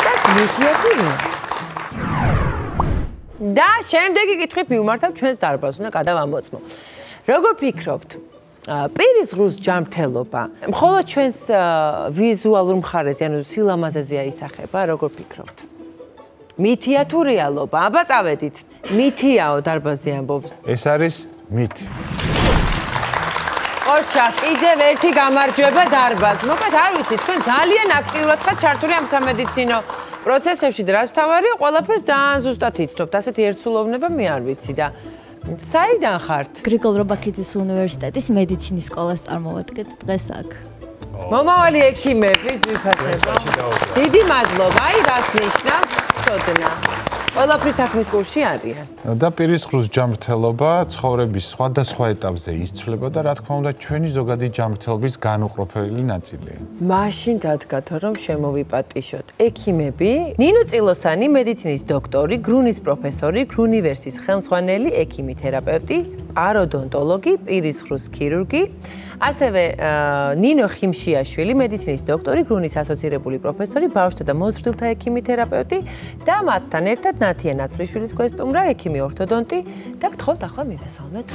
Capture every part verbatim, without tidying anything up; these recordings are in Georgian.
ზუსტად მითიათურია. და შემდეგი კითხვით მივმართავ ჩვენს დარბაზს, უნდა გადავამოწმო. როგორ ფიქრობთ? პირის ღრუს ჯანმრთელობა მხოლოდ ჩვენს ვიზუალურ მხარეზე, ანუ სილამაზეზეა ისახება, როგორ ფიქრობთ? მითია თუ რეალობა? აბა წავედით. მითიაო დარბაზი ამბობს. ეს არის მითი. ოჩა, კიდევ ერთი გამარჯვება დარბაზს. მოკლედ არ ვიცი, თქვენ ძალიან აქტიურად ხართ ჩართული ამ სამედიცინო პროცესებში და რაც თავარია, ყველაფერს ძალიან ზუსტად იცნობთ. ასეთი ერთსულოვნება მე არ ვიცი და საიდან ხართ? გრიგოლ რობაქიძის უნივერსიტეტის მედიცინის სკოლას წარმოვადგეთ დღეს აქ. მომავალი ექიმები ვიფასება. დიდი მადლობა. აი რას ნიშნავს ცოდნა. ყველაფრის საქმის კურსში არიან. და პირის ღრუს ჯანმრთელობა ცხოვრების სხვადასხვა ეტაპზე იცვლება და რა თქმა უნდა ჩვენი ზოგადი ჯანმრთელობის განუყოფელი ნაწილია. მაშინ დადგათ რომ შემოვიპატიშოთ. ექიმები, ნინო წილოსანი, მედიცინის დოქტორი, გრუნის პროფესორი, გრუნივერსის ხელმძღვანელი, ექიმი თერაპევტი, პაროდონტოლოგი, პირის ღრუს ქირურგი, ასევე ნინო ხიმშიაშვილი, მედიცინის დოქტორი, გრუნის ასოცირებული პროფესორი, ბავშვთა და მოზრდილთა ექიმი თერაპევტი და მათთან ერთად ნათია ნაცვლიშვილის გვესტუმრა, ექიმი ორთოდონტი და გთხოვთ ახლა მივესალმეთ.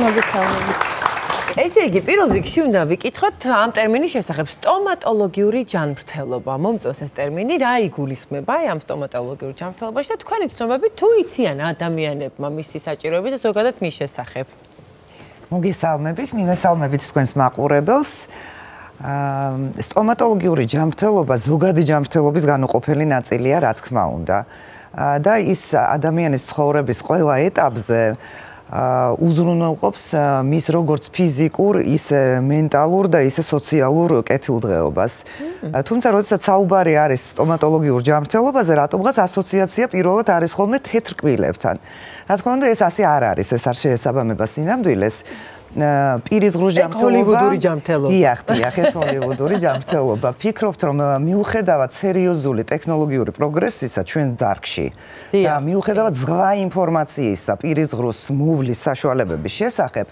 მოგესალმებით. ესე იგი, პირველ რიგში უნდა ვიკითხოთ ამ ტერმინის შესახებ სტომატოლოგიური ჯანმრთელობა. მომწონს ეს ტერმინი, რა იგულისხმება აი ამ სტომატოლოგიურ ჯანმრთელობაში და თქვენი ცნობები თუ იციან ადამიანებმა მისი საჭიროები და ზოგადად მის შესახებ. მოგესალმებით, მივესალმებით თქვენს მაყურებელს. სტომატოლოგიური ჯანმრთელობა ზოგადი ჯანმრთელობის განუყოფელი ნაწილია, რა თქმა უნდა. და ის ადამიანის ცხოვრების ყველა ეტაპზე უზრუნველყოფს მის როგორც ფიზიკურ, ისე მენტალურ და ისე სოციალურ კეთილდღეობას. თუმცა, როდესაც საუბარი არის სტომატოლოგიურ ჯანმრთელობაზე, რატომღაც ასოციაცია პირველად არის ხოლმე თეთრ კბილებთან. რა თქმა უნდა, ეს ასე არ არის, ეს არ შეესაბამება სინამდვილეს. პირის ღრუს ჯანმრთელობა. ჰოლივუდური ჯანმრთელობა. დიახ, დიახ, ეს ჰოლივუდური ჯანმრთელობა. ფიქრობთ, რომ მიუხედავად სერიოზული ტექნოლოგიური პროგრესისა ჩვენ დარგში და მიუხედავად ზღვა ინფორმაციისა პირის ღრუს მოვლის საშუალებების შესახებ,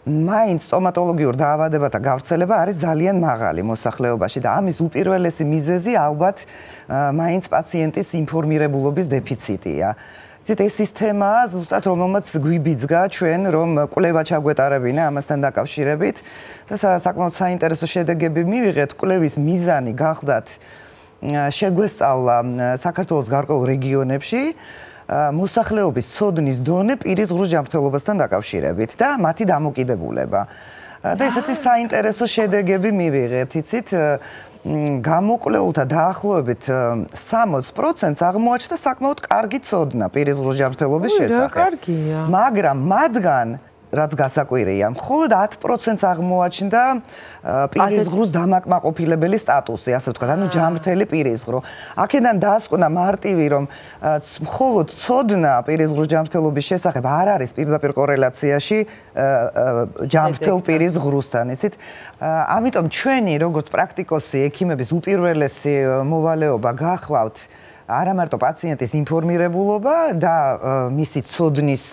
მაინც სტომატოლოგიურ დაავადებათა გავრცელება არის ძალიან მაღალი მოსახლეობაში და ამის უპირველესი მიზეზი ალბათ მაინც პაციენტის ინფორმირებულობის დეფიციტია. ძით ეს სისტემაა ზუსტად რომელმაც გვიბიძგა ჩვენ რომ კვლევა ჩაგვეტარებინა ამასთან დაკავშირებით და საკმაოდ საინტერესო შედეგები მივიღეთ. კვლევის მიზანი გახლდათ შეგვესწავლა საქართველოს გარკვეულ რეგიონებში მოსახლეობის ცოდნის დონე პირის ღრუს ჯანმრთელობასთან დაკავშირებით და მათი დამოკიდებულება. და ესეთი საინტერესო შედეგები მივიღეთ, იცით, გამოკვლეულთა დაახლოებით სამოცს პროცენტს აღმოაჩნდა საკმაოდ კარგი ცოდნა პირის ღრუს ჯანმრთელობის შესახებ. მაგრამ მათგან რაც გასაკვირია, მხოლოდ ათ პროცენტს აღმოაჩნდა პირის ღრუს დამაკმაყოფილებელი სტატუსი, ასე ვთქვათ, ანუ ჯანმრთელი პირის ღრო. აქედან დაასკვნა მარტივი, რომ მხოლოდ ცოდნა პირის ღრუს ჯანმრთელობის შესახებ არ არის პირდაპირ კორელაციაში ჯანმრთელ პირის ღრუსთან, იცით? ამიტომ ჩვენი როგორც პრაქტიკოსი, ექიმების უპირველესი მოვალეობა გახლავთ არა მარტო პაციენტის ინფორმირებულობა და მისი ცოდნის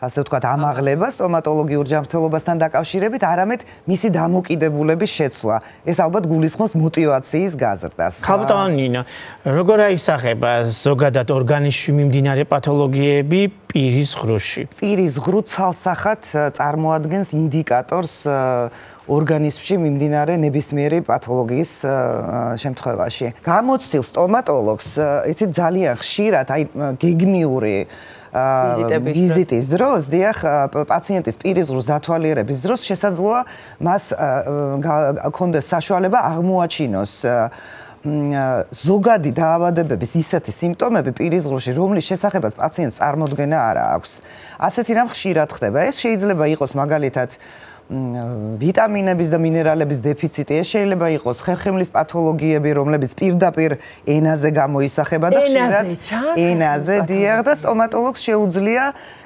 ასე ვთქვათ, ამაღლება სტომატოლოგიურ ჯანმრთელობასთან დაკავშირებით, არამედ მისი დამოკიდებულების შეცვლა. ეს ალბათ გულისხმობს მოტივაციის გაზრდას. ხალხთან ნინა, როგორ აისახება ზოგადად ორგანიზმში მიმდინარე პათოლოგიები პირის ღრუში? პირის ღრუ ცალსახად წარმოადგენს ინდიკატორს ორგანიზმში მიმდინარე ნებისმიერი პათოლოგიის შემთხვევაში. გამოცდილ სტომატოლოგს, იცით, ძალიან ხშირად აი გეგმიური ვიზიტის დროს, დიახ, პაციენტის პირის ღრუს დათვალიერების დროს შესაძლოა მას ჰქონდეს საშუალება აღმოაჩინოს ზოგადი დაავადებების ისეთი სიმპტომები პირის ღრუში, რომლის შესახებაც პაციენტს წარმოდგენა არ აქვს. ასეთი რამ ხშირად ხდება. ეს შეიძლება იყოს მაგალითად ვიტამინების და მინერალების დეფიციტი, ეს შეიძლება იყოს ხერხემლის პათოლოგიები, რომლებიც პირდაპირ ენაზე გამოისახება და ხშირად ენაზე, დიახ, და სტომატოლოგს შეუძლია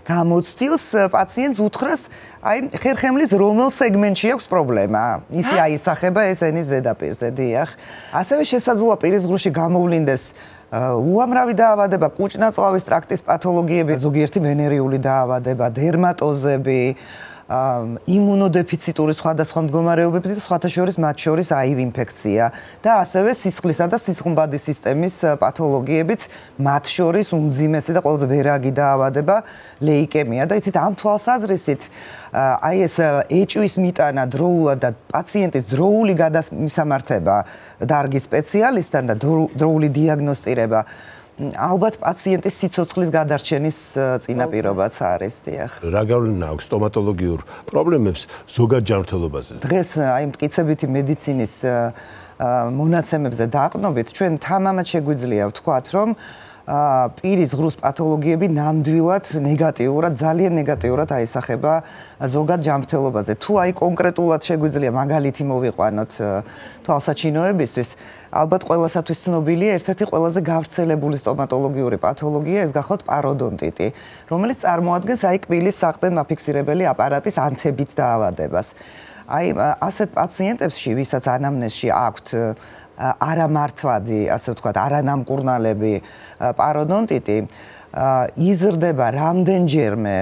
გამოცდილს პაციენტს უთხრას, აი ხერხემლის რომელ სეგმენტში აქვს პრობლემა. ისი აისახება ეს ენის ზედაპირზე, დიახ. ასევე შესაძლოა პირის ღრუში გამოვლინდეს უამრავი დაავადება, კუჭნაწლავის ტრაქტის პათოლოგიები, ზოგიერთი ვენერიული დაავადება, დერმატოზები, იმუნოდეფიციტური სხვადასხვა მდგომარეობები და სხვათა შორის მათ შორის აივ ინფექცია და ასევე სისხლისა და სისხლბადის სისტემის პათოლოგიებიც, მათ შორის უმძიმესი და ყველაზე ვერაგი დაავადება ლეიკემია და იცით ამ თვალსაზრისით აი ეს ეჭვის მიტანა დროულად და პაციენტის დროული გადამისამართება დარგის სპეციალისტთან და დროული დიაგნოსტირება ალბათ პაციენტის სიცოცხლის გადარჩენის წინაპირობაც არის, დიახ. რა გავლენა აქვს სტომატოლოგიურ პრობლემებს ზოგად ჯანმრთელობაზე? დღეს აი მტკიცებითი მედიცინის მონაცემებზე დაყრდნობით ჩვენ თამამად შეგვიძლია ვთქვათ, რომ პირის ღრუს პათოლოგიები ნამდვილად ნეგატიურად, ძალიან ნეგატიურად აისახება ზოგად ჯანმრთელობაზე. თუ აი კონკრეტულად შეგვიძლია მაგალითი მოვიყვანოთ თვალსაჩინოებისთვის, ალბათ ყველასათვის ცნობილია ერთ-ერთი ყველაზე გავრცელებული სტომატოლოგიური პათოლოგია, ეს გახლავთ პაროდონტიტი, რომელიც წარმოადგენს აი კბილის საყრდენ მაფიქსირებელი აპარატის ანთებით დაავადებას. აი ასეთ პაციენტებში, ვისაც ანამნეზში აქვთ არამართვადი, ასე ვთქვათ, არანამკურნალები პაროდონტიტი, იზრდება რამდენჯერმე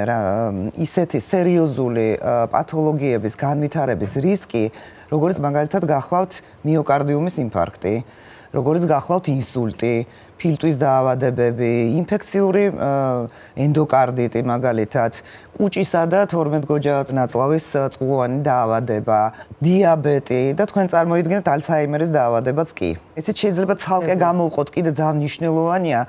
ისეთი სერიოზული პათოლოგიების განვითარების რისკი, როგორც მაგალითად გახლავთ მიოკარდიუმის ინფარქტი, როგორც გახლავთ ინსულტი, ფილტვის დაავადებები, ინფექციური ენდოკარდიტი მაგალითად, კუჭისა და თორმეტგოჯა ნაწლავის წყლოვანი დაავადება, დიაბეტი და თქვენ წარმოიდგინეთ ალცჰაიმერის დაავადებაც კი. იცით შეიძლება ცალკე გამოვყოთ, კიდე ძალიან მნიშვნელოვანია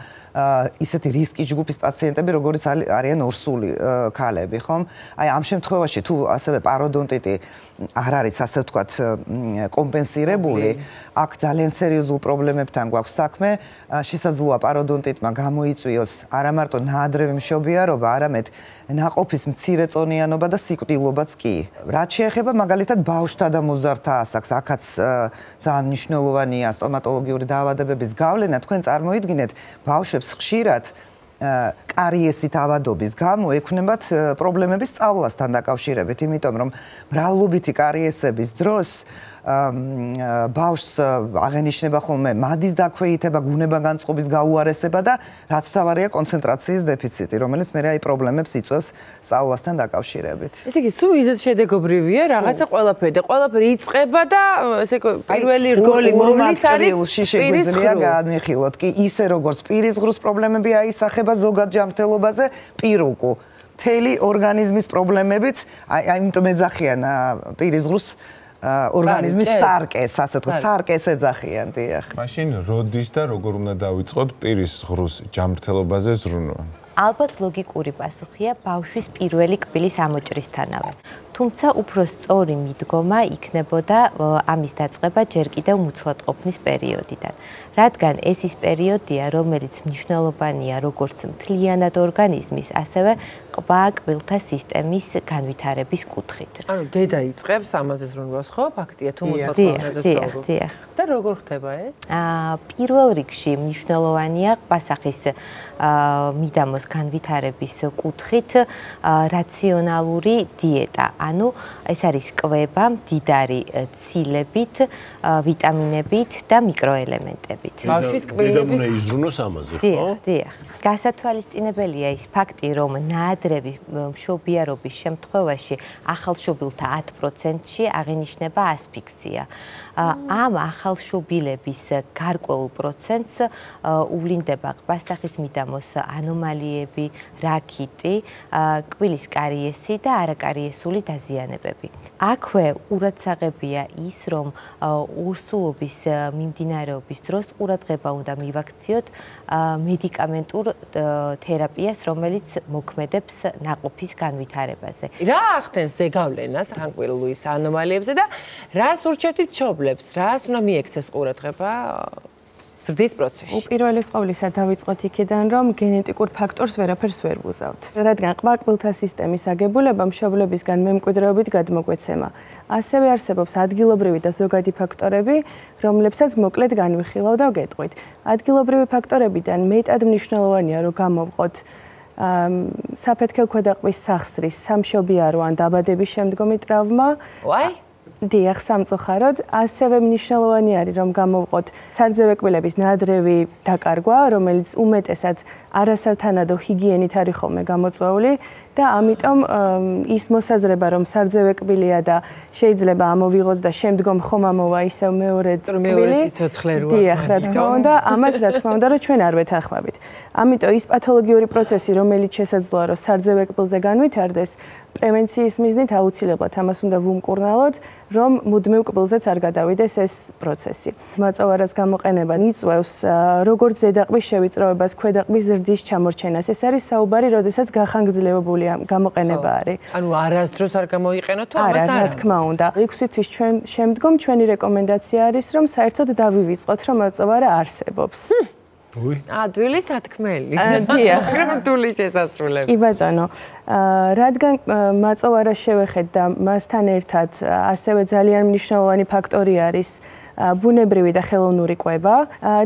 ისეთი რისკის ჯგუფის პაციენტები, როგორც არიან ორსული ქალები, ხომ? აი ამ შემთხვევაში თუ ასევე პაროდონტიტი არ არის, ასე ვთქვათ, კომპენსირებული, აქ ძალიან სერიოზულ პრობლემებთან გვაქვს საქმე, შესაძლოა პაროდონტიტმა გამოიწვიოს არა მარტო ნაადრევი მშობიარობა, არამედ ნაყოფის მცირეწონიანობა და სიკვდილობაც კი. რაც შეეხება მაგალითად ბავშვთა და მოზარდთა ასაკს, აქაც ძალიან მნიშვნელოვანია სტომატოლოგიური დაავადებების გავლენა. თქვენ წარმოიდგინეთ, ბავშვებს ხშირად კარიესით ავადობის გამო ექნებათ პრობლემები სწავლასთან დაკავშირებით, იმიტომ რომ მრავლობითი კარიესების დროს ბავშვს აღენიშნება ხოლმე მადის დაქვეითება, გუნებაგანწყობის გაუარესება და რაც მთავარია კონცენტრაციის დეფიციტი, რომელიც მე აი პრობლემებს იწვევს სწავლასთან დაკავშირებით. ესე იგი, სულ მიზეზ შედეგობრივია, რაღაცა ყველაფერი და ყველაფერი იწყება და ესე პირველი რგოლი მომლის არის შეგვიძლია განვიხილოთ კი ისე როგორც პირის ღრუს პრობლემები აისახება ზოგად ჯანმრთელობაზე, პირუკუ მთელი ორგანიზმის პრობლემებიც, აი ამიტომ ეძახიან პირის ღრუს ორგანიზმის სარკეს, ასე ვთქვათ, სარკეს ეძახიან, დიახ. მაშინ როდის და როგორ უნდა დავიწყოთ პირის ღრუს ჯანმრთელობაზე ზრუნვა? ალბათ ლოგიკური პასუხია ბავშვის პირველი კბილის ამოჭრისთანავე. თუმცა უფრო სწორი მიდგომა იქნებოდა ამის დაწყება ჯერ კიდევ მუცლადყოფნის პერიოდიდან. რადგან ეს ის პერიოდია, რომელიც მნიშვნელოვანია როგორც მთლიანად ორგანიზმის, ასევე ყბა კბილთა სისტემის განვითარების კუთხით. ანუ დედა იწყებს ამაზე ზრუნვას, ხო? ფაქტია, თუ მუცლადყოფნაზე ვსაუბრობთ. დიახ, და როგორ ხდება ეს? აა პირველ რიგში მნიშვნელოვანია ყბასახის მიდამოს განვითარების კუთხით რაციონალური დიეტა. ანუ ეს არის კვება, მდიდარი ცილებით, ვიტამინებით და მიკროელემენტებით. ბავშვის კბილების უნდა იზრუნოს ამაზე, ხო? დიახ, დიახ. გასათვალისწინებელია ის ფაქტი, რომ ნაადრევი მშობიარობის შემთხვევაში ახალშობილთა ათ პროცენტში აღინიშნება ასფიქსია. ამ ახალშობილების გარკვეულ პროცენტს უვლინდება ყბასახის მიდამოს ანომალიები, რაქიტი, კბილის კარიესი და არაკარიესული დაზიანებები. აქვე ყურადსაღებია ის, რომ ორსულობის მიმდინარეობის დროს ყურადღება უნდა მივაქციოთ მედიკამენტურ თერაპიას, რომელიც მოქმედებს ნაყოფის განვითარებაზე. რა ახდენს ზეგავლენას თანკბილის ანომალიებზე და რას ურჩევთ მშობლებს, რას უნდა მიექცეს ყურადღება ზრდის პროცესში? უპირველეს ყოვლისა დავიწყოთ იქიდან, რომ გენეტიკურ ფაქტორს ვერაფერს ვერ ვუზავთ. რადგან ყბა კბილთა სისტემის აგებულება მშობლებისგან მემკვიდრეობით გადმოგვეცემა. ასევე არსებობს ადგილობრივი და ზოგადი ფაქტორები, რომლებსაც მოკლედ განვიხილავ და ვგეტყვით. ადგილობრივი ფაქტორებიდან მეტად მნიშვნელოვანია, რომ გამოვყოთ საფეთქელ ქვედაყბის სახსრის, სამშობიარო ან დაბადების შემდგომი ტრავმა. ვაი? დიახ, სამწუხაროდ, ასევე მნიშვნელოვანი არის, რომ გამოვყოთ სარძევე კბილების ნადრევი დაკარგვა, რომელიც უმეტესად არასათანადო ჰიგიენით არის ხოლმე გამოწვეული და ამიტომ ის მოსაზრება, რომ სარძევე კბილია და შეიძლება ამოვიღოთ და შემდგომ ხომ ამოვა ისევ მეორე კბილი. დიახ, რა თქმა უნდა, ამას რა თქმა უნდა, რომ ჩვენ არ ვეთანხმებით. ამიტომ ის პათოლოგიური პროცესი, რომელიც შესაძლოა, რომ სარძევე კბილზე განვითარდეს, პრევენციის მიზნით აუცილებლად ამას უნდა ვუმკურნალოთ, რომ მუდმივ კბილზეც არ გადავიდეს ეს პროცესი. მაწოვარას გამოყენება იწვევს როგორც ზედაყბის შევიწროებას, ქვედაყბის ზრდის ჩამორჩენას. ეს არის საუბარი, როდესაც გახანგრძლივებული გამოყენება არის. ანუ არასდროს არ გამოიყენოთ თუ ამას არა? რა თქმა უნდა. ექვსი თვის ჩვენ შემდგომ ჩვენი რეკომენდაცია არის, რომ საერთოდ დავივიწყოთ, რომ მაწოვარა არსებობს. უი. აა, დვილი სათქმელი. დიახ. დვილი შესასრულებელი. კი ბატონო, რადგან მაწოვარას შევეხეთ და მასთან ერთად ასევე ძალიან მნიშვნელოვანი ფაქტორი არის ბუნებრივი და ხელოვნური კვება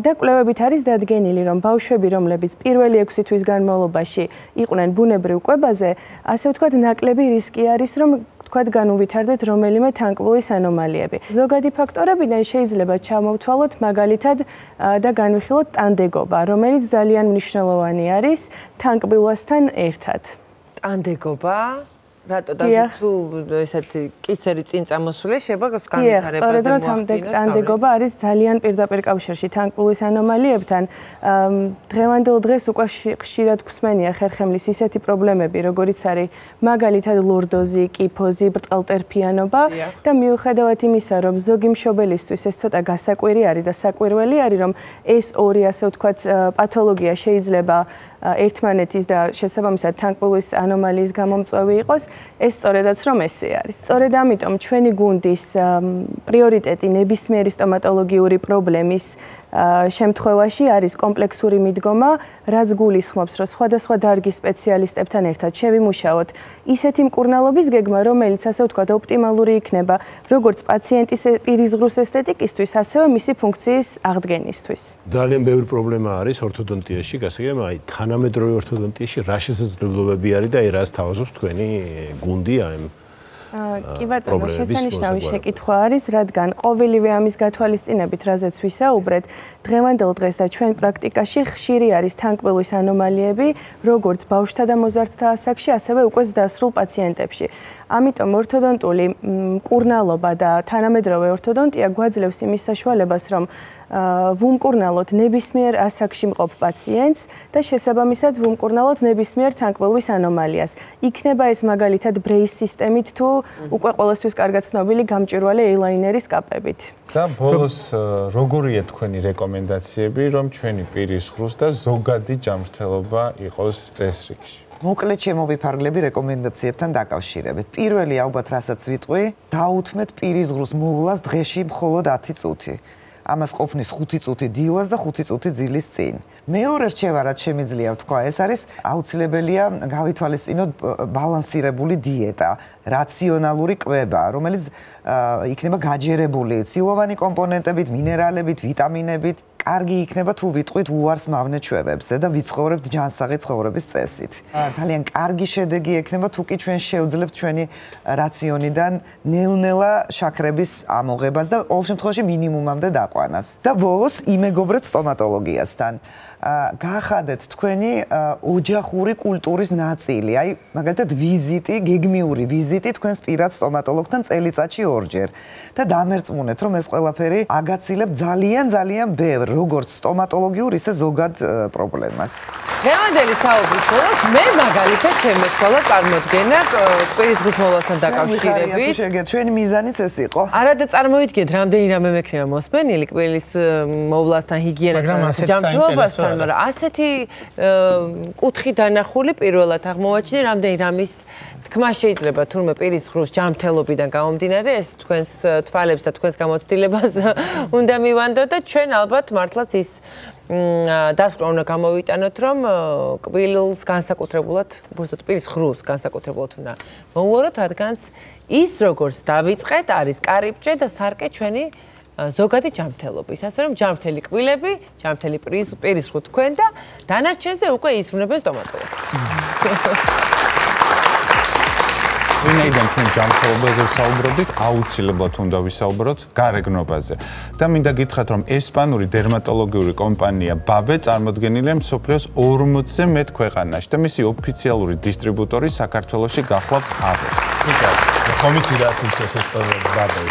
და კვლევებით არის დადგენილი, რომ ბავშვები, რომლებიც პირველი ექვსი თვის განმავლობაში იყვნენ ბუნებრივ კვებაზე, ასე ვთქვათ, ნაკლები რისკი არის, რომ თქვათ განუვითარდეთ რომელიმე თანკბილის ანომალიები. ზოგადი ფაქტორებიდან შეიძლება ჩამოვთვალოთ მაგალითად და განვიხილოთ ტანდეგობა, რომელიც ძალიან მნიშვნელოვანი არის თანკბილასთან ერთად. ტანდეგობა? რატო და თუ ესეთი კისერი წინ წამოსულია, შეიძლება განვითარებაზე მოახდინოს. სწორედ რომ ტანდეგობა არის ძალიან პირდაპირ კავშირში თანკბილის ანომალიებთან. დღევანდელ დღეს უკვე ხშირად გვსმენია ხერხემლის ისეთი პრობლემები, როგორიც არის მაგალითად ლორდოზი, კიფოზი, ბრტყალტერფიანობა და მიუხედავად იმისა, რომ ზოგი მშობელისთვის ეს ცოტა გასაკვირი არის და საკვირველი არის, რომ ეს ორი ასე ვთქვათ პათოლოგია შეიძლება ერთმანეთის და შესაბამისად თანკბილის ანომალიის გამომწვევი იყოს, ეს სწორედაც რომ ესე არის. სწორედ ამიტომ ჩვენი გუნდის პრიორიტეტი ნებისმიერი სტომატოლოგიური პრობლემის შემთხვევაში არის კომპლექსური მიდგომა, რაც გულისხმობს, რომ სხვადასხვა დარგის სპეციალისტებთან ერთად შევიმუშაოთ ისეთი მკურნალობის გეგმა, რომელიც ასე ვთქვათ ოპტიმალური იქნება როგორც პაციენტის პირისღრუს ესთეტიკისთვის, ასევე მისი ფუნქციის აღდგენისთვის. ძალიან ბევრი პრობლემა არის ორთოდონტიაში, გასაგებია, აი თანამედროვე ორთოდონტიაში რა შესაძლებლობები არის და აი რას თავაზობს თქვენი გუნდი აი კი ბატონო, შესანიშნავი შეკითხვა არის, რადგან ყოველივე ამის გათვალისწინებით, რაზეც ვისაუბრეთ, დღევანდელ დღეს და ჩვენ პრაქტიკაში ხშირი არის თანკბილის ანომალიები, როგორც ბავშვთა და მოზარდთა ასაკში, ასევე უკვე ზრდასრულ პაციენტებში. ამიტომ ორთოდონტული მკურნალობა და თანამედროვე ორთოდონტია გვაძლევს იმის საშუალებას, რომ ვუმკურნალოთ ნებისმიერ ასაკში მყოფ პაციენტს და შესაბამისად ვუმკურნალოთ ნებისმიერ თანკბილის ანომალიას. იქნება ეს მაგალითად ბრეის სისტემით თუ უკვე ყოველთვის კარგად ცნობილი გამჭვირვალე ეილაინერის კაპებით. და ბოლოს როგორია თქვენი რეკომენდაციები, რომ ჩვენი პირისღრუს და ზოგადი ჯანმრთელობა იყოს წესრიგში? მოკლედ შემოვიფარგლები რეკომენდაციებთან დაკავშირებით. პირველი ალბათ რასაც ვიტყვი, დაუთმეთ პირისღრუს მოვლას დღეში მხოლოდ ათი წუთი. ამას ყოფნის ხუთი წუთი დილას და ხუთი წუთი ძილის წინ. მეორე რჩევა, რაც შემიძლია ვთქვა, ეს არის აუცილებელია გავითვალისწინოთ ბალანსირებული დიეტა, რაციონალური კვება, რომელიც იქნება გაჯერებული ცილოვანი კომპონენტებით, მინერალებით, ვიტამინებით. კარგი იქნება თუ ვიტყვით უარს მავნე ჩვევებზე და ვიცხოვრებთ ჯანსაღი ცხოვრების წესით. ძალიან კარგი შედეგი ექნება თუ კი ჩვენ შევძლებთ ჩვენი რაციონიდან ნელ-ნელა შაქრების ამოღებას და ყოველ შემთხვევაში მინიმუმამდე დაყვანას. და ბოლოს იმეგობრეთ სტომატოლოგიასთან. გაახადეთ თქვენი ოჯახური კულტურის ნაწილი, აი მაგალითად ვიზიტი, გეგმიური ვიზიტი თქვენს პირად სტომატოლოგთან წელიწადში ორჯერ და დამერწმუნეთ, რომ ეს ყველაფერი აგაცილებთ ძალიან ძალიან ბევრ როგორც სტომატოლოგიურ, ისე ზოგად პრობლემას. დღევანდელი საუბრის ბოლოს მე მაგალითად შემეცვალა წარმოდგენა პირისღრუს მოვლასთან დაკავშირებით. შეგეთ, ჩვენი მიზანიც ეს იყო. არა და წარმოვიდგინეთ, რამდენი რამე მექნება მოსმენილი კბილის მოვლასთან, ჰიგიენასთან, ჯანმრთელობასთან, მაგრამ ასეთი კუთხი დანახული პირველად აღმოვაჩინე, რამდენი რამის თქმა შეიძლება თურმე პირისღრუს ჯანმრთელობიდან გამომდინარე ეს თქვენს თვალებს და თქვენს გამოცდილებას უნდა მივანდოთ და ჩვენ ალბათ მართლაც ის დასკვნა უნდა გამოვიტანოთ, რომ კბილს განსაკუთრებულად, უბრალოდ პირისღრუს განსაკუთრებულად უნდა მოვუაროთ, რადგანაც ის როგორც დავიწყეთ, არის კარიბჭე და სარკე ჩვენი ზოგადი ჯანმრთელობის, ასე რომ ჯანმრთელი კბილები, ჯანმრთელი პირისღრუ თქვენ და დანარჩენზე უკვე ისრულებენ სტომატოლოგი. ვინაიდან ჩვენ ჯანმრთელობაზე ვსაუბრობთ, აუცილებლად უნდა ვისაუბროთ გარეგნობაზე. და მინდა გითხრათ, რომ ესპანური დერმატოლოგიური კომპანია ბაბე წარმოდგენილია მსოფლიოს ორმოცზე მეტ ქვეყანაში და მისი ოფიციალური დისტრიბუტორი საქართველოში გახლავთ ავერს. ხომ იცი რა ასმის ესპანური ბაბე?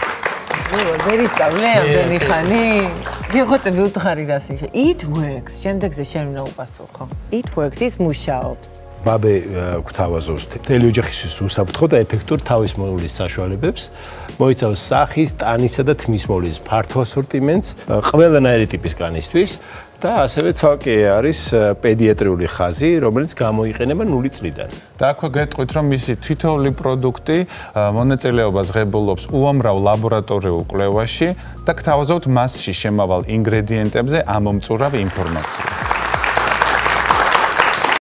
ვერ ისწავლე ამდენი ხანი? გიხოწე ვიუთხარი რას ისე. It works. შემდეგზე შენ უნდა უპასუხო. It works ის მუშაობს. ბაბე გვთავაზობს მთელი ოჯახისთვის უსაფრთხო და ეფექტურ თავის მოვლის საშუალებებს, მოიცავს სახის, ტანისა და თმის მოვლის ფართო ასორტიმენტს, ყველანაირი ტიპის კანისთვის და ასევე ცალკე არის პედიატრიული ხაზი, რომელიც გამოიყენება ნული წლიდან. და აქვე გეტყვით, რომ მისი თითოეული პროდუქტი მონაწილეობას ღებულობს უამრავ ლაბორატორიულ კვლევაში და გთავაზობთ მასში შემავალ ინგრედიენტებზე ამომწურავ ინფორმაციას.